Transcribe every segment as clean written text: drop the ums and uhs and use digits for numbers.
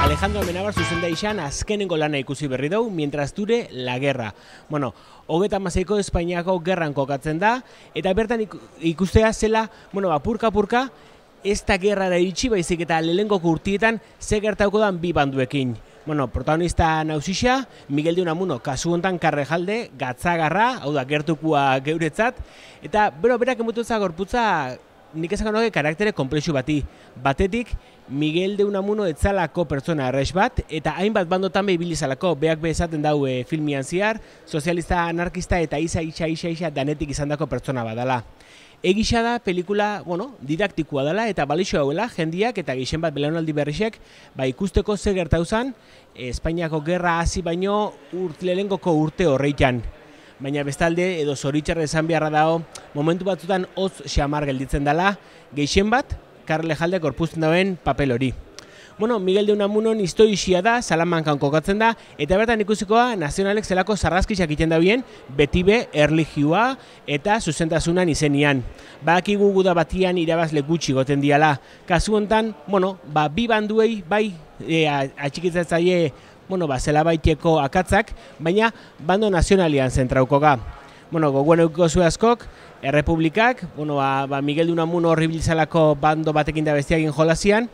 Alejandro Amenábar zuzendaitzan azkenengo lana ikusi berri dugu, mientras dure la guerra. Bueno, 36ko Espainiako gerran kokatzen da, eta bertan ikustea zela, apurka-apurka, ez da gerrara iritsi baizik eta lehenengo urtietan ze gertauko dan bi banduekin. Protagonista nausisa, Miguel de Unamuno, kasu hontan Karrejalde, gatzagarra, hau da, gertukua geuretzat, eta berak emututza gorputza, nik ezakon hoge karaktere komplexu bati. Batetik, Miguel de Unamuno etzalako pertsona errex bat, eta hainbat bandotan ibilizalako, beak esaten dau filmian ziar, sozialista, anarkista eta isa danetik izandako pertsona badala. Egisa da, pelikula, didaktikoa dela eta balixo hauela, jendiak eta gixen bat belaunaldi berrisek, ikusteko ze gertauzan, Espainiako gerra hasi baino lehenengoko urte horreitan. Baina bestalde, edo zoritxarra esan beharra dago, momentu batzutan hotz xamar gelditzen dela, geixen bat, Karlejalde gorpuzten dauen papel hori. Miguel de Unamunon historia da, Salamankan kokatzen da, eta bertan ikusikoa nazionalek zelako zarrazkisak egiten dabien, beti be, erlijioa eta zuzentasunan izenian. Badakigu guda batian irabazle gutxi goten diala. Kasu hontan, bi banduei, atxikitzatzaile, zela baiteko akatzak, baina bando nazionalian zentrauko ga. Gogoen eukiko zu askok, Errepublikak, Miguel de Unamuno horribilizalako bando batekin da bestiagin jolazian,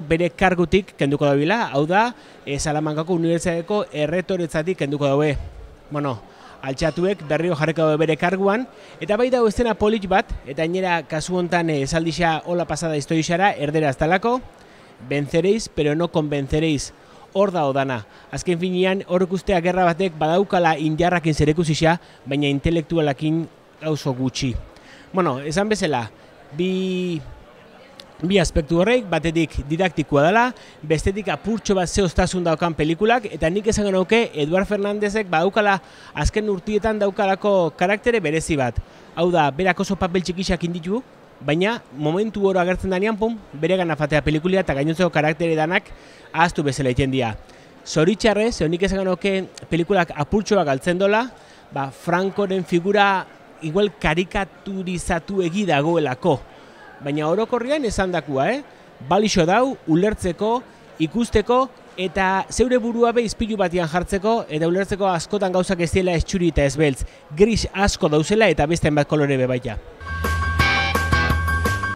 bere kargutik kenduko dabila, hau da, Salamankako Unibertsitateko erretoretzatik kenduko daue. Altxatuek berriro jarriko daue bere karguan, eta bai dago estena polit bat, eta gainera kasu hontan esaldixa hola pasada historixara, erderaz talako, venceréis, pero no convenceréis. Hor da odana. Azken finean, hor ikustea gerra batek badaukala indarrakin zerekusisa, baina intelektualakin gauzo gutxi. Esan bezala, bi aspektu horreik, batetik didaktikoa dela, bestetik apurtxo bat zehoztasun daukan pelikulak, eta nik esango nauke Eduard Fernandezek badaukala azken urtietan daukalako karaktere berezi bat. Hau da, berak oso papel txikisak inditu, baina momentu hori agertzen danean, bere gana fatea pelikulia eta gainontzeko karaktere danak ahaztu bezala egiten dira. Zoritxarrez, honik esango nauke pelikulak apurtxoak galtzen dola, Francoren figura igual karikaturizatu egi dagoelako. Baina orokorrian esan dakua, balixo dau, ulertzeko, ikusteko, eta zeure burua be izpilu batian jartzeko, eta ulertzeko askotan gauzak ez dela ez txuri eta ez beltz. Gris asko dauzela eta beste hainbat kolore be baita.